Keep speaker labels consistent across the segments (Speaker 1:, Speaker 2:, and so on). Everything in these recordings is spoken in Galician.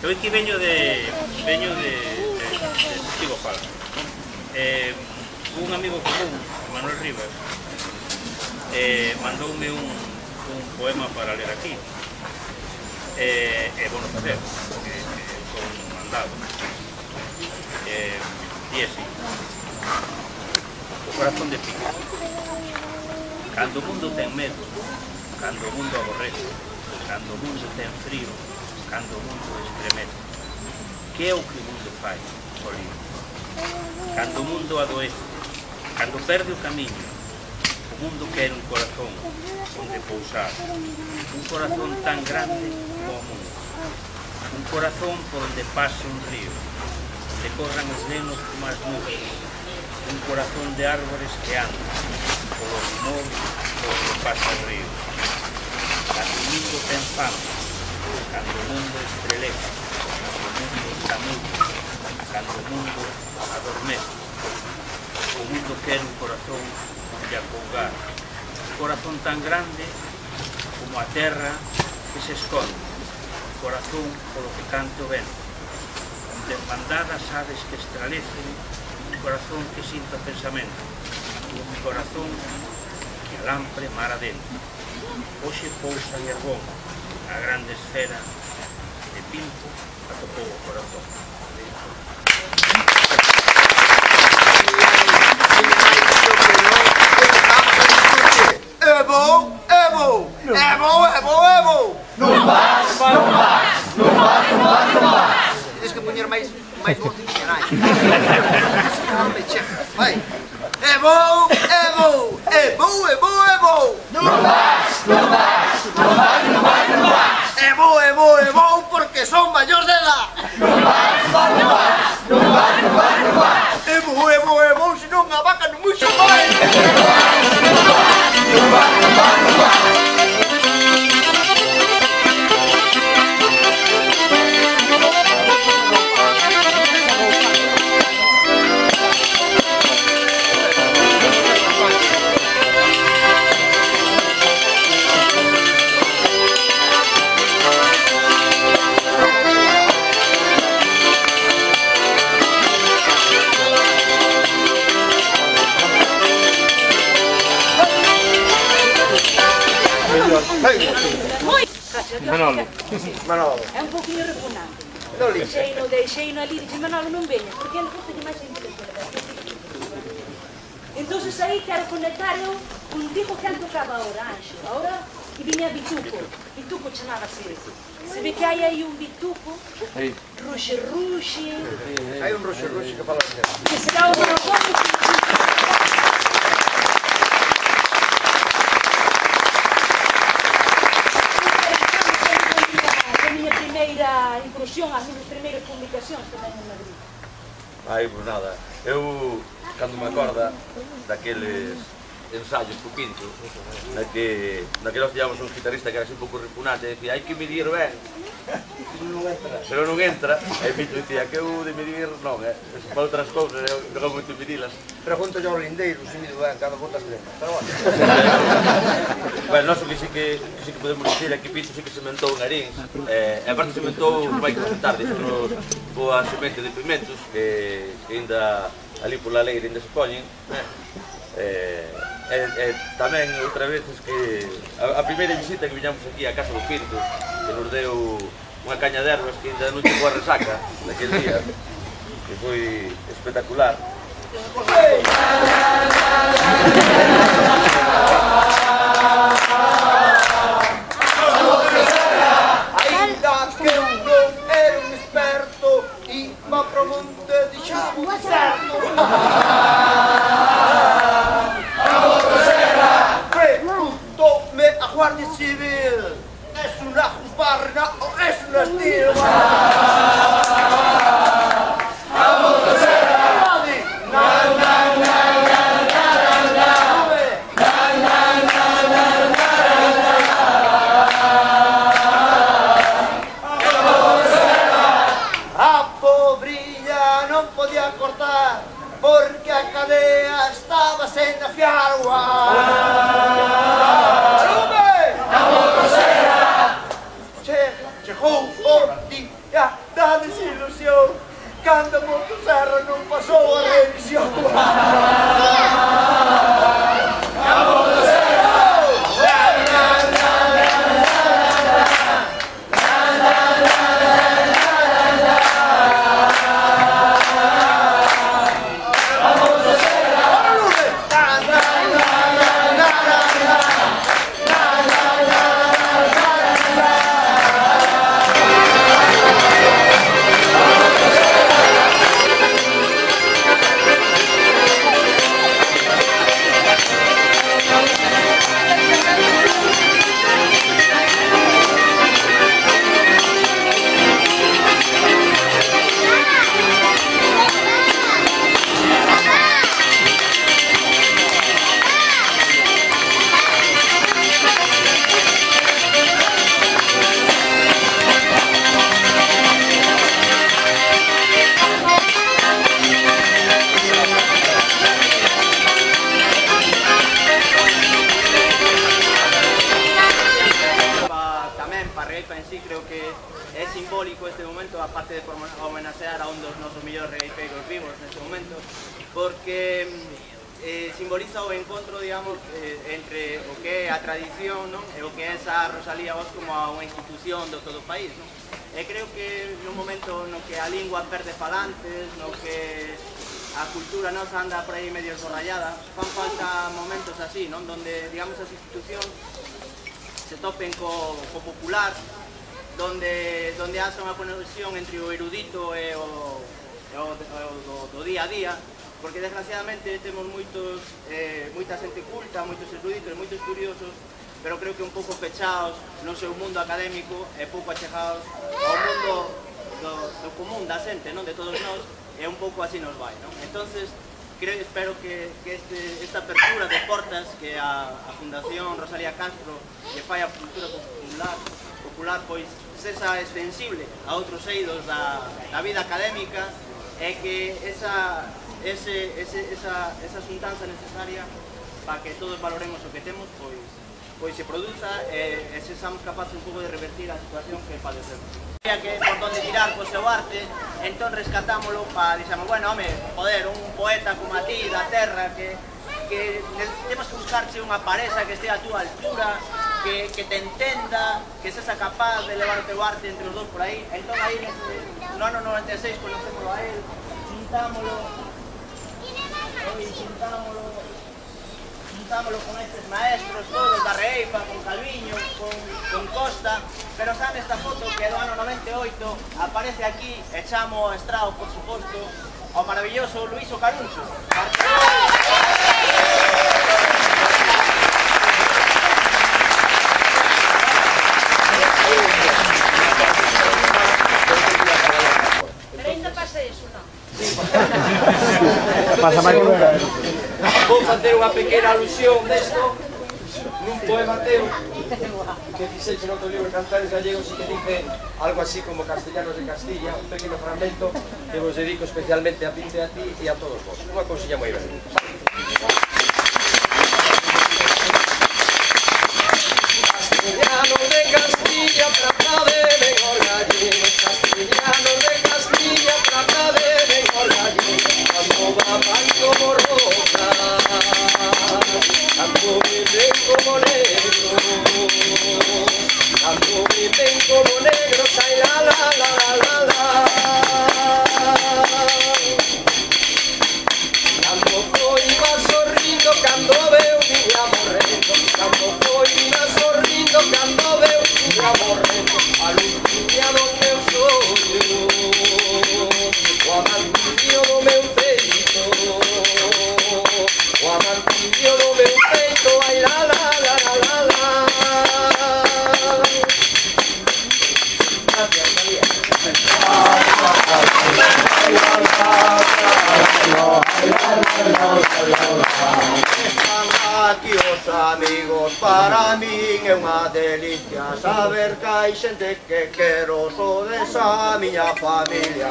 Speaker 1: Eu aquí veño de Testigo Fala. Un amigo común, Manuel Rivas, mandoume un poema para ler aquí. É bueno facer, porque son mandado. E así. O corazón de pico. Cando o mundo ten medo, cando o mundo aborrece, cando o mundo ten frío, cando o mundo estremece, que é o que o mundo fai, Solín? Cando o mundo adoece, cando perde o camiño, o mundo quere un corazón onde pousar, un corazón tan grande como o mundo, un corazón por onde pase un río, onde corran os nenos como as nubes, un corazón de árbores que andan polo rumor por onde pasa o río. Cando o mundo ten fame, cando o mundo estreleza, cando o mundo está mudo, cando o mundo adormece, o mundo quere un corazón onde acougar, un corazón tan grande como a terra que se esconde, un corazón polo que cante o vento, onde en bandadas aves que estralecen, un corazón que sinta o pensamento, un corazón que alambre mar adentro. Hoxe pousa en Herbón, a grande esfera de Pinto atopou o corazón.
Speaker 2: Evo! Evo! Evo! Evo! Evo!
Speaker 3: Non vas, non vas, non vas, non vas, non vas.
Speaker 2: Tienes que poñer máis voz que nai. Vai. Evo! Evo! Evo! Evo! Evo!
Speaker 3: Non vas, non vas, non vas, non vas, non vas.
Speaker 2: Evo! Evo! Evo! Porque son maior de edad.
Speaker 3: Non vas, non vas, non vas, non vas, non vas.
Speaker 2: Evo! Evo! Evo! Senón a vaca non muxo máis.
Speaker 3: Non vas, non vas, non vas, non vas, non vas.
Speaker 4: Manolo.
Speaker 2: Manolo.
Speaker 5: É un pouquinho repugnante.
Speaker 2: Non li.
Speaker 5: Deixeino ali, dixe Manolo non veña, porque ele gusta que máis interesante. Entón aí quero conectar eu contigo que han tocado agora, Anxo. Agora que viña Bituco. Bituco chamábase. Se ve que hai aí un Bituco, Ruxe Ruxe.
Speaker 2: Hai un Ruxe Ruxe que fala así.
Speaker 5: Que será o Borogón. Incursión, as minhas primeiras publicacións tamén en Madrid.
Speaker 6: Ai, pois nada, eu, cando me acorda daqueles ensaios co Pinto, na que nós tiñamos un guitarrista que era así un pouco repugnante e decía, hai que medir ben, pero non entra, e Pinto dicía que eu de medir non, para outras cousas, eu non moito medilas.
Speaker 2: Pregunto yo ao lindeiro se mido ben cada botas de lema, pero bueno.
Speaker 6: Bueno, nós o que sí que podemos dicir é que Pinto sí que sementou en Arins, e aparte sementou, vai comentar, dixenos boa semente de pimentos, que ainda ali pola leira ainda se poñen, tamén outra vez que a primeira visita que viñamos aquí á casa do Pinto, que nos deu unha caña de ervas que ainda non chegou a resaca daquel día, que foi espectacular.
Speaker 2: Ainda que eu non era un experto, iba pro monte de chavo certo. Preguntoume a Guardia Civil, es una juzbarna o es una estirba? A motosserra! Porque a cadea estaba sen afiar o Chega o día
Speaker 4: é simbólico este momento, aparte de por homenaxear a un dos nosos millores regueiteiros vivos neste momento, porque simboliza o encontro, digamos, entre o que é a tradición, non? E o que é esa Rosalía Oz como unha institución do todo o país, non? E creo que nun momento no que a lingua perde falantes, no que a cultura nosa anda por aí medio esborrallada, fan falta momentos así, non? Donde, digamos, as institucións se topen co popular, donde haxa unha conexión entre o erudito e o do día a día, porque desgraciadamente temos moita xente culta, moitos eruditos, moitos curiosos, pero creo que un pouco pechados no seu mundo académico e pouco achegados ao mundo do común da xente, non? De todos nós, e un pouco así nos vai, non? Entonces, espero que esta apertura de portas que a Fundación Rosalía Castro lle fai a cultura popular, pois sexa extensible a outros eidos da vida académica, e que esa xuntanza necesaria para que todos valoremos o que temos, pois se produza e sexamos capaces un pouco de revertir a situación que padecemos. Que por donde tirar co seu arte, entón rescatámoslo para, dixamos, bueno, home, joder, un poeta como a ti, da terra, que temos que buscarche unha pareja que estea a túa altura, que te entenda, que sexa capaz de levar o teu arte entre os dous por aí. Entón aí, no ano 96, conocémoslo a él, juntámoslo con estes maestros, todos da Reeifa, con Calviño, con Costa, pero sabe esta foto que é do ano 98, aparece aquí, e chamo a estrao, por suposto, ao maravilloso Luís Ocaruncho.
Speaker 5: Pero ainda pasa eso, non?
Speaker 2: Pasa máis.
Speaker 7: Vou facer unha pequena alusión desto nun poema teu que fixeche no teu libro Cantares Gallegos e que dice algo así como Castellanos de Castilla, un pequeno fragmento que vos dedico especialmente a Pinte, a ti e a todos vos. Unha cousiña moi breve. Castellanos de Castilla, trata de mejor gallegos. Castellanos de Castilla, trata de mejor gallegos. Cuando va manco borrosa, tanto viven como negros, tanto viven como negros, ay la la la la la. Cando foi iba sorrindo, cando veu miña morrendo, cando foi iba sorrindo, cando veu miña morrendo, a luciña do meu sonho, o amantillo do meu peito, o amantillo do meu peito, ai la la la la la la. Gracias, María.
Speaker 2: Están aquí os amigos, para min é unha delicia saber que hai xente que quero, sodes a miña familia.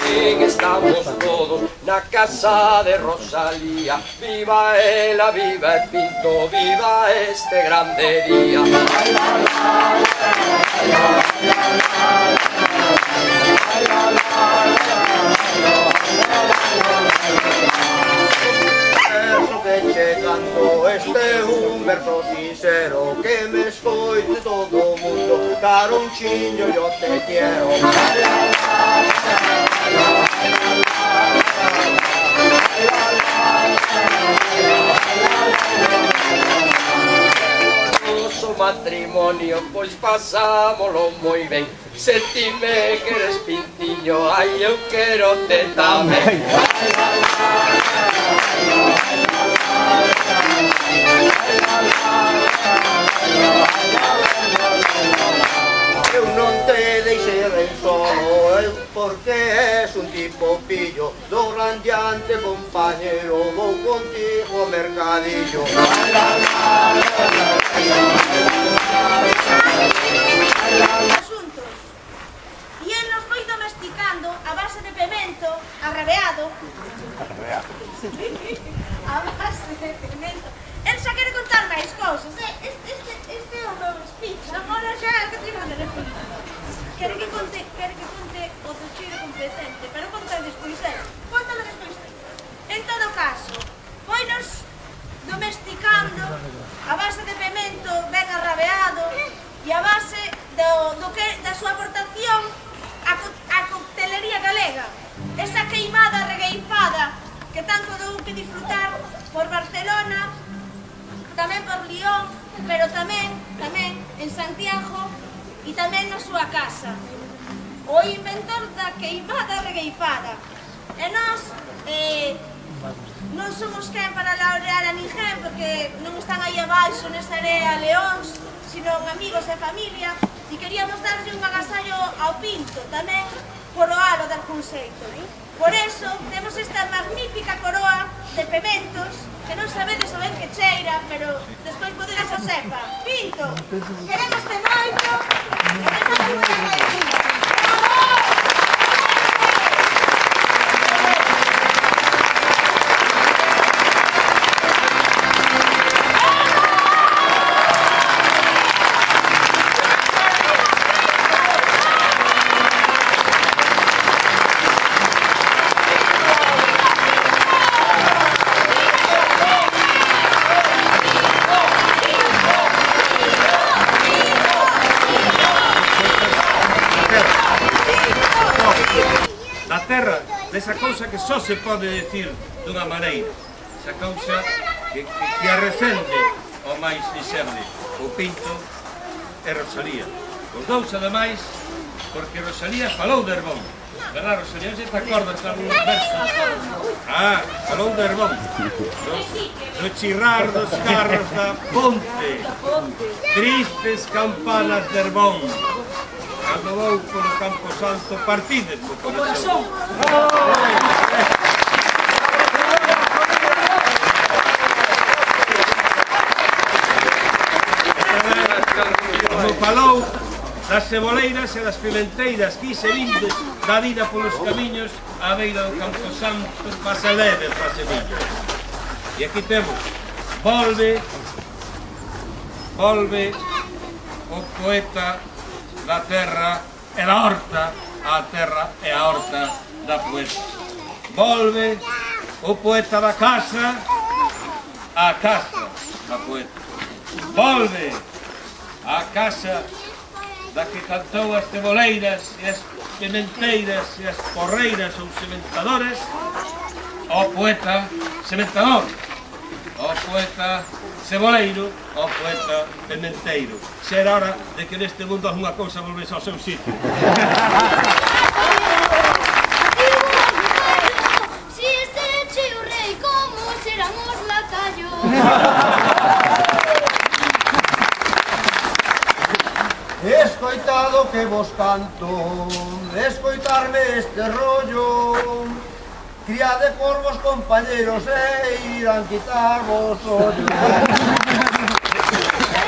Speaker 7: Que estamos todos na casa de Rosalía, viva ela, viva el Pinto, viva este grande día.
Speaker 2: Verso que che canto, este é un verso sincero, que me escoite todo o mundo, caronchiño yo te quiero.
Speaker 7: Noso matrimonio, pois pasámolo moi ben. Se ti me queres Pintiño, ai eu quero te tamén.
Speaker 2: Eu non te deixei ben solo, porque és un tipo pillo, do grandiante compañero, vou contigo ao mercadillo.
Speaker 8: Asuntos. Y en los coitos domesticando a base de pemento arrabeado. A base de pemento. El xa quere contar máis cousas. Este é o meu speech. Agora xa que te manda de speech. Quere que conte o tocheiro competente, pero conta despois él. Contalo despois él. En todo caso, foinos domesticando a base de pemento ben arrabeado e a base da súa aportación á coctelería galega. Esa queimada regueifada que tanto dou que disfrutar por Barcelona, tamén por Lyon, pero tamén en Santiago e tamén na súa casa. O inventor da queimada regueifada. E nós non somos quen para laurear a ninguén, porque non están aí abaixo nesa area leóns, sino amigos e familia, e queríamos darlle un agasallo ao Pinto, tamén por o alo dar conceito. Por eso, temos esta magnífica coroa de pementos, que non sabedes o ben que cheira, pero despois podedes o sepa. Pinto, queremos te moito, e temos moi agradecido.
Speaker 9: Esa cousa que só se pode decir dunha maneira, esa cousa que arrecende ao máis dixerle, o Pinto e Rosalía. Os dous, ademais, porque Rosalía falou de Herbón, verdad, Rosalía? Non se te acordas de algún verso? Falou de Herbón, do chirrar dos carros da ponte, tristes campanas de Herbón. Cando vou polo Campo Santo, partides co corazón. Como falou das ceboleiras e das pimenteiras, quise vindes da vida polos camiños á beira do Campo Santo, pasa leve para semillas. E aquí temos, volve o poeta da terra e da horta, a terra e a horta da poeta. Volve o poeta da casa, a casa da poeta. Volve a casa da que cantou as ceboleiras e as pimenteiras e as porreiras ou sementadores, o poeta sementador, o poeta ceboleiro, o poeta pimenteiro. Será hora de que neste mundo alguna cousa volvese ao seu sitio.
Speaker 8: Si este che o rei, como serán os lacayos?
Speaker 2: Escoitado que vos canto, escoitarme este rollo, cría de corvos compañeros e irán quitar vos ollo.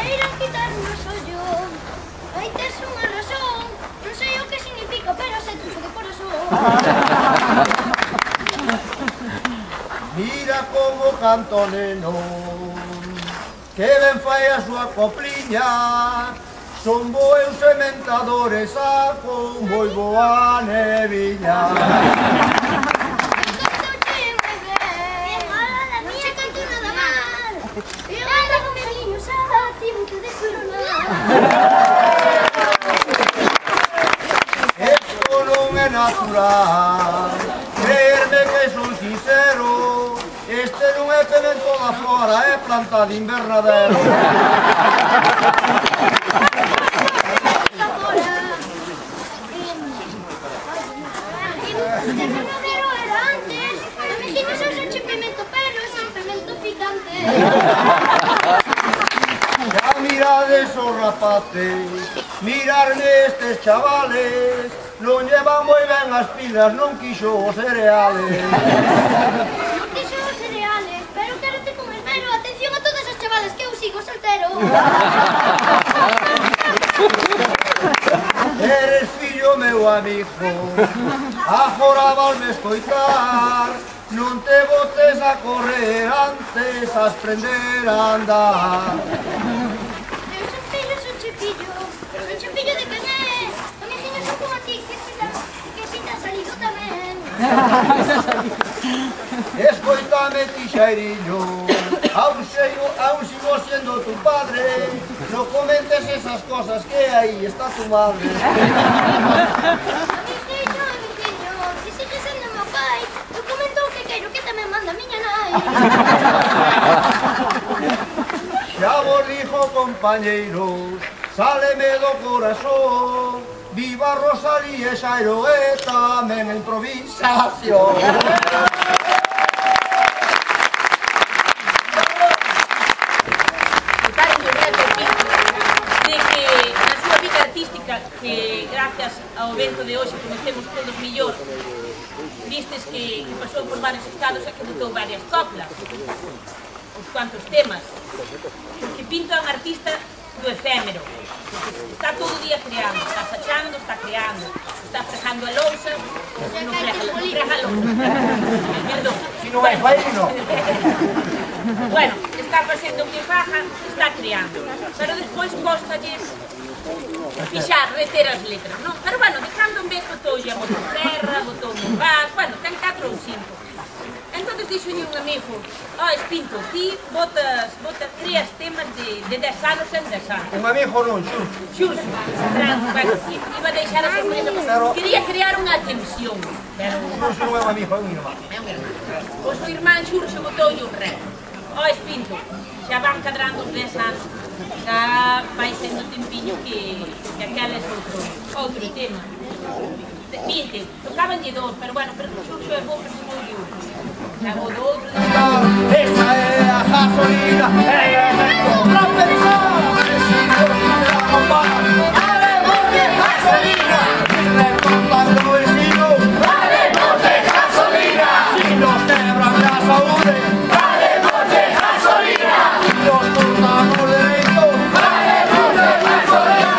Speaker 8: Irán quitarnos ollo. Aí tes unha razón. Non sei o que significa, pero sei tuxo de corazón.
Speaker 2: Mira como canto neno, que ben fai a súa copliña. Son boeus sementadores a con moi boa neviña. Esto non é natural, creerme que son sincero, este non é pemento da flora, é planta de invernadero. Ya mirades os rapaces, mirarme estes chavales, non llevan moi ben as pilas, non quixo os cereales.
Speaker 8: Non quixo os cereales, pero quérote con esmero. Atención a todos os chavales, que eu sigo soltero.
Speaker 2: Eres fillo o meu amigo, agora volve escoitar, non te botes a correr antes a aprender a andar.
Speaker 8: Eu son fillo de quen é? O mijiño son como ti, que pinta salido tamén.
Speaker 2: Escoitame, tixeiriño, aún sigo siendo tu padre, no comentes esas cosas que aí está tu madre.
Speaker 8: Mijiño, que sigue sendo meu pai, eu comento o que quero que tamén manda a miña nai.
Speaker 2: Xa vos dixo, compañeiros, sáleme do corazón, viva Rosalía e Xairo e tamén a improvisación.
Speaker 5: Que gracias ao evento de hoxe conocemos todos millor, vistes que pasou por varios estados e que botou varias coplas, uns cuantos temas, porque Pinto é un artista do efémero, está todo o día creando, está sachando, está creando, está fregando a lousa, non frega a lousa, perdón.
Speaker 2: Si non é faino.
Speaker 5: Bueno, está facendo o que faja, está creando, pero despois costalle fixar, reter as letras, non? Pero, bueno, de cando en vez botoulle a motosserra, botoulle un gas, bueno, ten 4 ou 5. Entón, dixolle un amigo, Espinto, ti creas temas de 10 anos en 10 anos.
Speaker 2: Un amigo non, Xurxo.
Speaker 5: Bueno, iba a deixar a sorpresa, quería crear unha tensión, pero...
Speaker 2: Xurxo non é un amigo, é un irmán.
Speaker 5: Pois o irmán Xurxo botoulle un rep. Espinto, xa van cadrando os 10 anos. Já vai sendo tempiño que aqueles outro tema. 20, tocabanlle 2, pero bueno, pero o Xurxo é bo, pero se moi un. Xa o do outro...
Speaker 2: Esta é a gasolina, outra persona, haremos de gasolina, recortando o vecino, haremos de gasolina, si nos quebran la saúde, haremos de gasolina, si nos cortamos derecho, haremos de gasolina.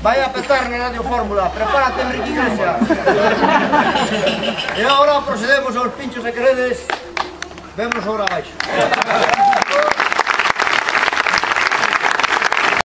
Speaker 2: vai a petar na Radio Fórmula. Prepárate, Enrique Iglesias. E agora procedemos aos pinchos, se queredes. Vemos ahora abaixo.